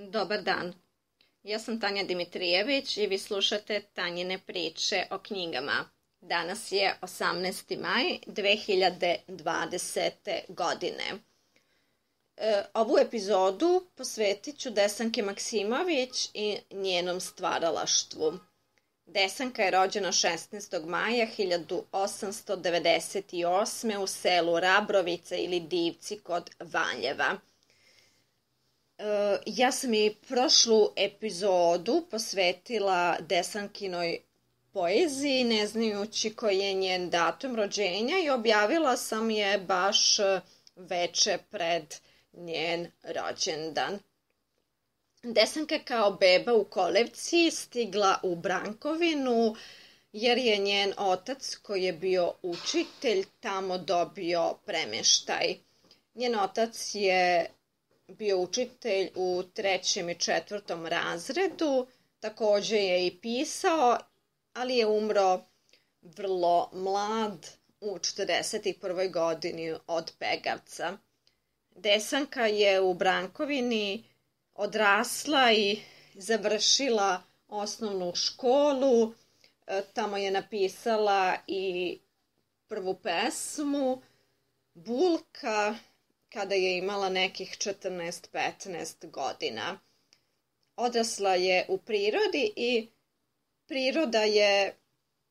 Dobar dan, ja sam Tanja Dimitrijević i vi slušate Tanjine priče o knjigama. Danas je 18. maj 2020. godine. Ovu epizodu posvetit ću Desanki Maksimović i njenom stvaralaštvu. Desanka je rođena 16. maja 1898. u selu Rabrovice ili Divci kod Valjeva. Ja sam i prošlu epizodu posvetila Desankinoj poeziji, ne znajući koji je njen datum rođenja, i objavila sam je baš veče pred njen rođendan. Desanka kao beba u kolevci stigla u Brankovinu jer je njen otac, koji je bio učitelj, tamo dobio premeštaj. Njen otac je bio učitelj u 3. i 4. razredu, takođe je i pisao, ali je umro vrlo mlad u 41. godini od Pegavca. Desanka je u Brankovini odrasla i završila osnovnu školu. Tamo je napisala i prvu pesmu Bulka kada je imala nekih 14-15 godina. Odrasla je u prirodi i priroda je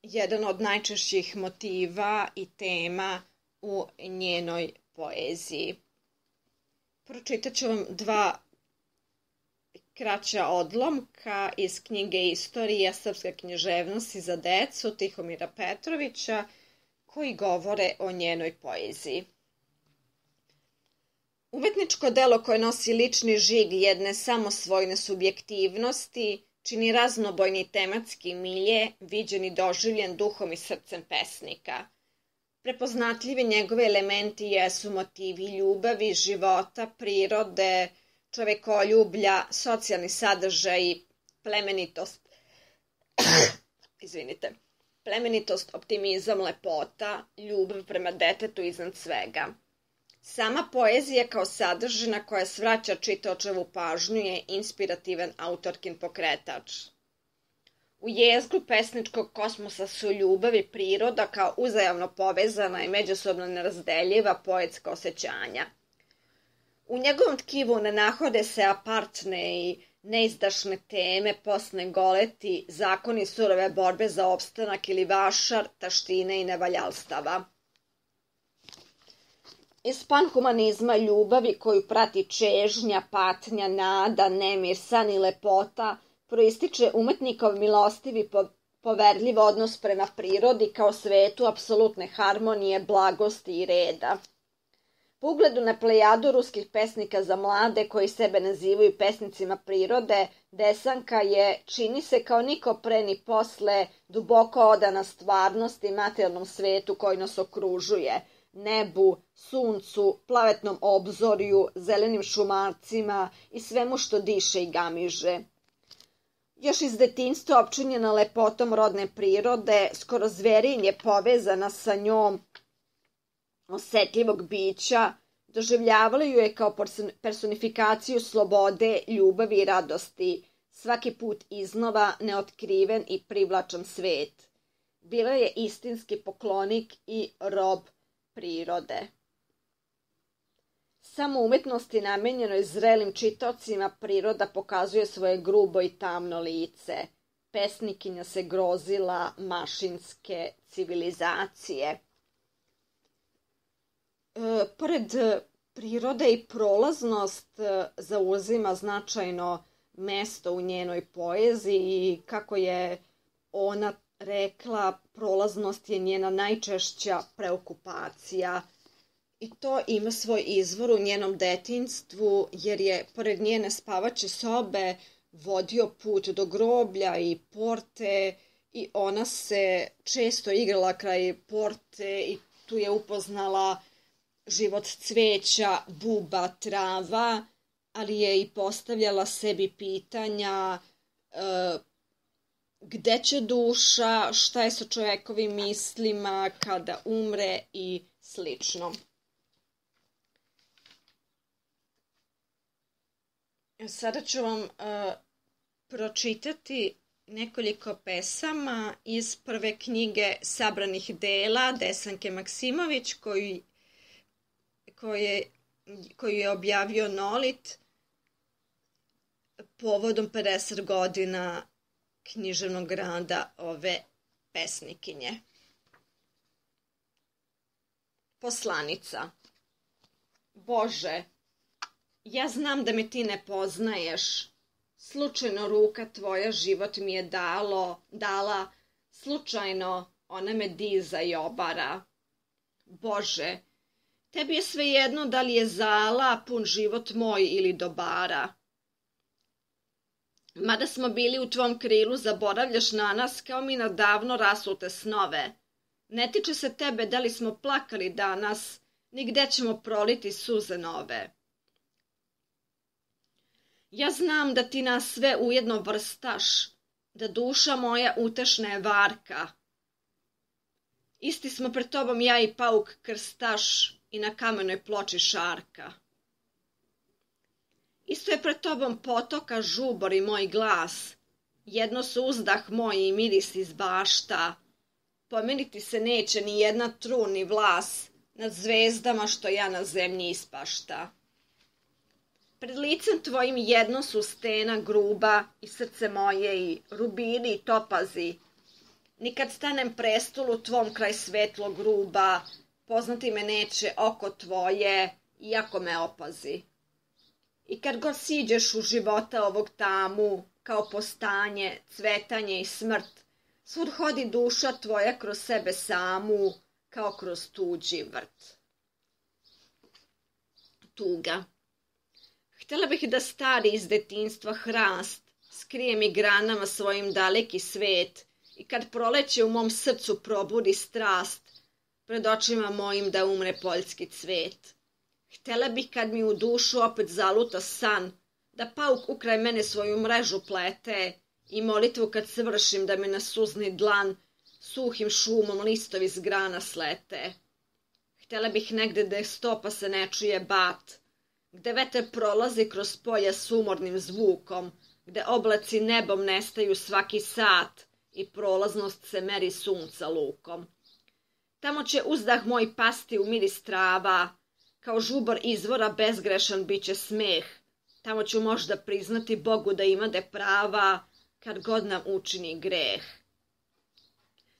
jedan od najčešćih motiva i tema u njenoj poeziji. Pročitat ću vam dva kraća odlomka iz knjige Istorija srpske književnosti za decu Tihomira Petrovića, koji govore o njenoj poeziji. Umetničko delo koje nosi lični žig jedne samosvojne subjektivnosti čini raznobojni tematski milje, viđen i doživljen duhom i srcem pesnika. Prepoznatljivi njegovi elementi jesu motivi ljubavi, života, prirode, čovekoljublja, socijalni sadržaj, plemenitost, optimizam, lepota, ljubav prema detetu iznad svega. Sama poezija kao sadržina koja svraća čitaočevu pažnju je inspirativan autorkin pokretač. U jezgru pesničkog kosmosa su ljubav i priroda kao uzajamno povezana i međusobno nerazdeljiva poetska osjećanja. U njegovom tkivu ne nahode se apartne i neizdašne teme, posne goleti, zakoni surove borbe za opstanak ili vašar, taštine i nevaljalstava. Iz panhumanizma ljubavi koju prati čežnja, patnja, nada, nemir, san i lepota proističe umetnikov milostivi poverljiv odnos prema prirodi kao svetu apsolutne harmonije, blagosti i reda. Po ugledu na plejadu ruskih pesnika za mlade koji sebe nazivaju pesnicima prirode, Desanka je, čini se kao niko pre ni posle, duboko odana stvarnosti i materijalnom svetu koji nas okružuje, nebu, suncu, plavetnom obzorju, zelenim šumarcima i svemu što diše i gamiže. Još iz detinjstva opčinjena lepotom rodne prirode, skoro zverinje je povezana sa njom osetljivog bića, doživljavali ju je kao personifikaciju slobode, ljubavi i radosti, svaki put iznova neotkriven i privlačan svet. Bila je istinski poklonik i rob prirode. Samo umetnosti namenjenoj zrelim čitaocima priroda pokazuje svoje grubo i tamno lice. Pesnikinja se grozila mašinske civilizacije. Pored prirode i prolaznost zauzima značajno mesto u njenoj poeziji i kako je ona rekla, prolaznost je njena najčešća preokupacija i to ima svoj izvor u njenom detinjstvu jer je pored njene spavaće sobe vodio put do groblja i porte i ona se često igrala kraj porte i tu je upoznala život cveća, buba, trava, ali je i postavljala sebi pitanja gde će duša, šta je sa čovekovim mislima kada umre i slično. Sada ću vam pročitati nekoliko pesama iz prve knjige sabranih dela Desanke Maksimović koju je objavio Nolit povodom 50 godina književnog rada ove pesnikinje. Poslanica. Bože, ja znam da me ti ne poznaješ. Slučajno ruka tvoja život mi je dala, slučajno ona me diza i obara. Bože, tebi je svejedno da li je zala pun život moj ili dobara. Mada smo bili u tvom krilu, zaboravljaš na nas kao mi na davno rasute snove. Ne tiče se tebe da li smo plakali danas, ni gde ćemo proliti suze nove. Ja znam da ti nas sve ujedno vrstaš, da duša moja utešna je varka. Isti smo pred tobom ja i pauk krstaš i na kamenoj ploči šarka. Isto je pred tobom potoka žubor i moj glas, jedno su uzdah moj i miris iz bašta. Pomeriti se neće ni jedna trun ni vlas nad zvezdama što ja na zemlji ispašta. Pred licem tvojim jedno su stena gruba i srce moje i rubini i topazi. Nikad stanem prestolu tvom kraj svetlo gruba, poznati me neće oko tvoje, iako me opazi. I kad god siđeš u života ovog tamu, kao postanje, cvetanje i smrt, svud hodi duša tvoja kroz sebe samu, kao kroz tuđi vrt. Tuga. Htjela bih da stari iz detinjstva hrast skrije mi granama svojim daleki svet i kad proleće u mom srcu probudi strast, pred očima mojim da umre poljski cvet. Htjela bih kad mi u dušu opet zaluta san, da pauk ukraj mene svoju mrežu plete i molitvu kad svršim da me na suzni dlan suhim šumom listovi s grana slete. Htjela bih negde da stopa se ne čuje bat, gde veter prolazi kroz polja s umornim zvukom, gde oblaci nebom nestaju svaki sat i prolaznost se meri sunca lukom. Tamo će uzdah moj pasti u miris trava, kao žubor izvora bezgrešan bit će smeh. Tamo ću možda priznati Bogu da imade prava, kad god nam učini greh.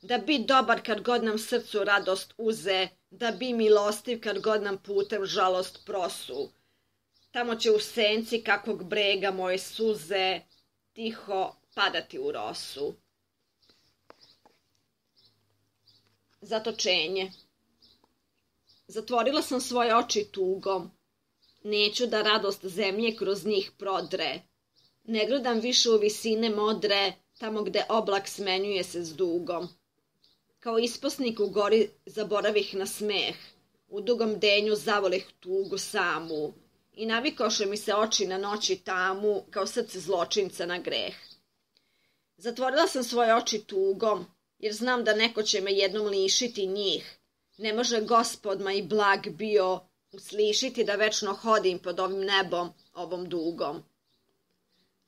Da bi dobar kad god nam srcu radost uze, da bi milostiv kad god nam putem žalost prosu. Tamo će u senci kakvog brega moje suze tiho padati u rosu. Zatočenje. Zatvorila sam svoje oči tugom. Neću da radost zemlje kroz njih prodre. Ne gledam više u visine modre, tamo gde oblak smenjuje se s dugom. Kao isposnik u gori zaboravih na smeh, u dugom denju zavolih tugu samu i navikoše mi se oči na noći tamu, kao srce zločinca na greh. Zatvorila sam svoje oči tugom, jer znam da neko će me jednom lišiti njih. Ne može Gospod ma i blag bio uslišiti da večno hodim pod ovim nebom, ovom dugom.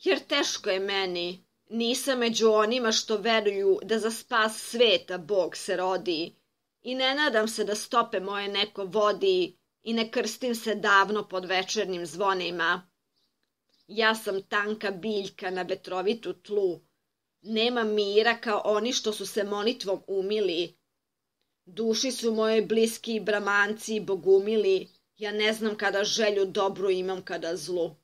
Jer teško je meni, nisam među onima što veruju da za spas sveta Bog se rodi i ne nadam se da stope moje neko vodi i ne krstim se davno pod večernjim zvonima. Ja sam tanka biljka na vetrovitu tlu, nema mira kao oni što su se molitvom umili. Duši su moje bliski i bramanci i bogumili, ja ne znam kada želju dobru imam kada zlu.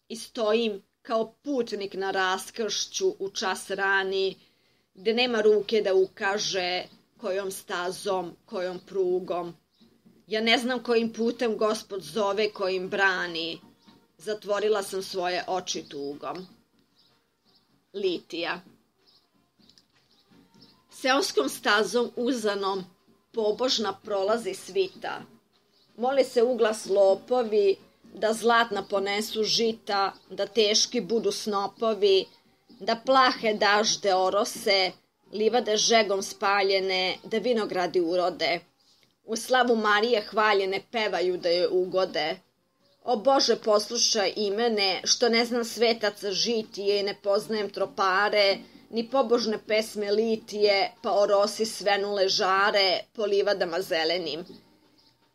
I stojim kao putnik na raskršću u čas rani, gde nema ruke da ukaže kojom stazom, kojom prugom. Ja ne znam kojim putem Gospod zove, kojim brani. Zatvorila sam svoje oči tugom. Litija. Seoskom stazom uzanom pobožna prolazi svita. Mole se uglas lopovi, da zlatna ponesu žita, da teški budu snopovi, da plahe dažde orose, livade žegom spaljene, da vinogradi urode. U slavu Marije hvaljene pevaju da joj ugode. O Bože, poslušaj i mene, što ne znam svetaca žitije i ne poznajem tropare, ni pobožne pesme litije, pa o rosi svenule žare po livadama zelenim.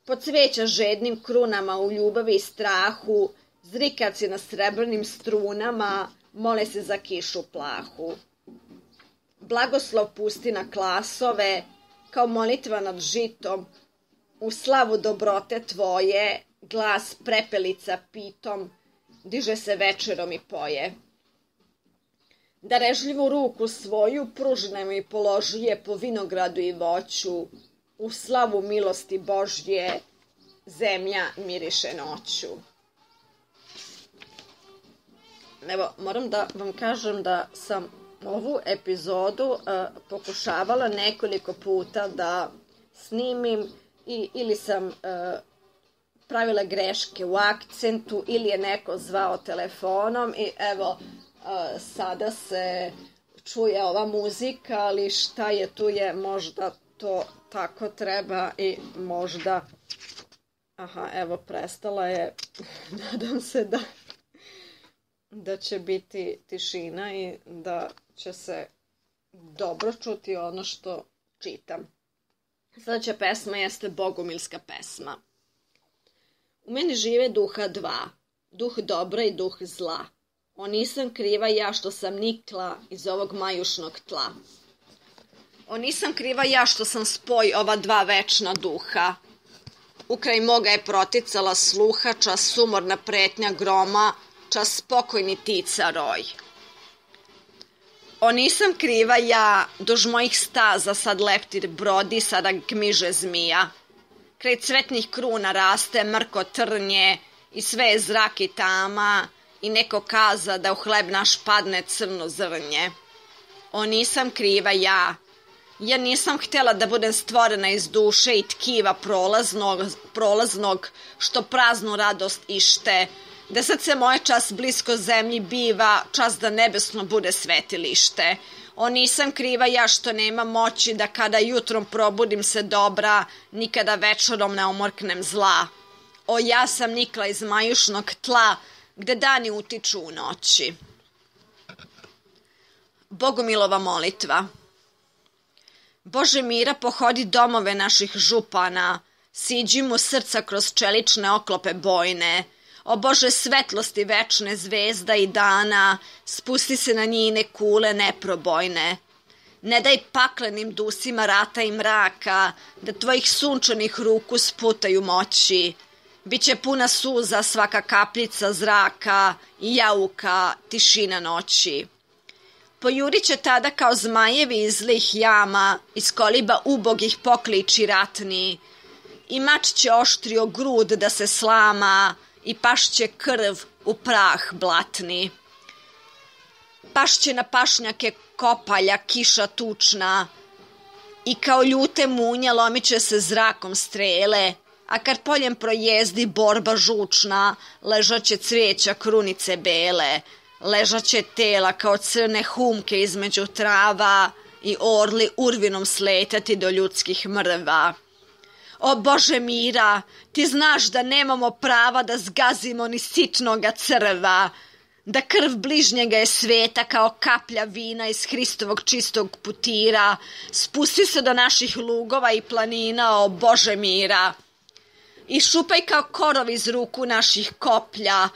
Po cveća žednim krunama u ljubavi i strahu, zrikaci na srebrnim strunama, mole se za kišu plahu. Blagoslov pusti na klasove, kao molitva nad žitom, u slavu dobrote tvoje, glas prepelica pitom, diže se večerom i poje. Darežljivu ruku svoju pružne mi položuje po vinogradu i voću, u slavu milosti Božje, zemlja miriše noću. Evo, moram da vam kažem da sam ovu epizodu pokušavala nekoliko puta da snimim ili sam pravila greške u akcentu ili je neko zvao telefonom i evo sada se čuje ova muzika, ali šta je tu je, možda to tako treba i možda... Aha, evo prestala je, nadam se da će biti tišina i da će se dobro čuti ono što čitam. Sljedeća pesma jeste bogumilska pesma. U meni žive duha dva, duh dobra i duh zla. O nisam kriva ja što sam nikla iz ovog majušnog tla. O nisam kriva ja što sam spoj ova dva večna duha. Ukraj moga je proticala sluha, čas sumorna pretnja groma, čas spokojni tica roj. O nisam kriva ja, duž mojih staza sad leptir brodi, sada gmiže zmija. Kraj cvetnih kruna raste mrko trnje i sve je zrak i tama i neko kaza da u hleb naš padne crno zrnje. O nisam kriva ja, ja nisam htjela da budem stvorena iz duše i tkiva prolaznog što praznu radost ište, da srce moje čas blisko zemlji biva, čas da nebesno bude svetilište. O nisam kriva ja što nema moći da kada jutrom probudim se dobra, nikada večerom ne omorknem zla. O ja sam nikla iz majušnog tla, gde dani utiču u noći. Bogumilova molitva. Bože mira, pohodi domove naših župana, siđi mu srca kroz čelične oklope bojne. O Bože svetlosti večne zvezda i dana, spusti se na njine kule neprobojne. Ne daj paklenim dusima rata i mraka, da tvojih sunčanih ruku sputaju moći. Biće puna suza svaka kapljica zraka i jauka tišina noći. Pojurit će tada kao zmajevi iz zlih jama, iz koliba ubogih pokliči ratni. I mač će oštrio grud da se slama, i pašće krv u prah blatni. Pašće na pašnjake kopalja kiša tučna, i kao ljute munje lomiće se zrakom strele, a kad poljem projezdi borba žučna, ležaće cvijeća krunice bele, ležaće tela kao crne humke između trava i orli urvinom sletati do ljudskih mrva. O Bože mira, ti znaš da nemamo prava da zgazimo ni sitnoga crva, da krv bližnjega je sveta kao kaplja vina iz Hristovog čistog putira, spusti se do naših lugova i planina, o Bože mira. I šupaj kao korov iz ruku naših koplja,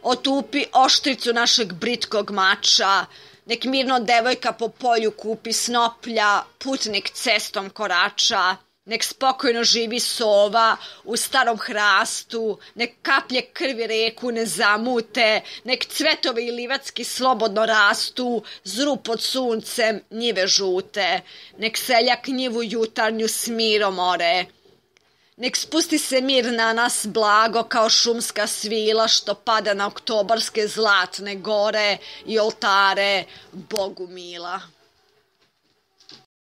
otupi oštricu našeg britkog mača, nek mirno devojka po polju kupi snoplja, putnik cestom korača, nek spokojno živi sova u starom hrastu, nek kaplje krvi reku ne zamute, nek cvetovi i livatski slobodno rastu, zru pod suncem njive žute, nek seljak njivu jutarnju s mirom ore. Nek spusti se mir na nas blago kao šumska svila što pada na oktobarske zlatne gore i oltare Bogu mila.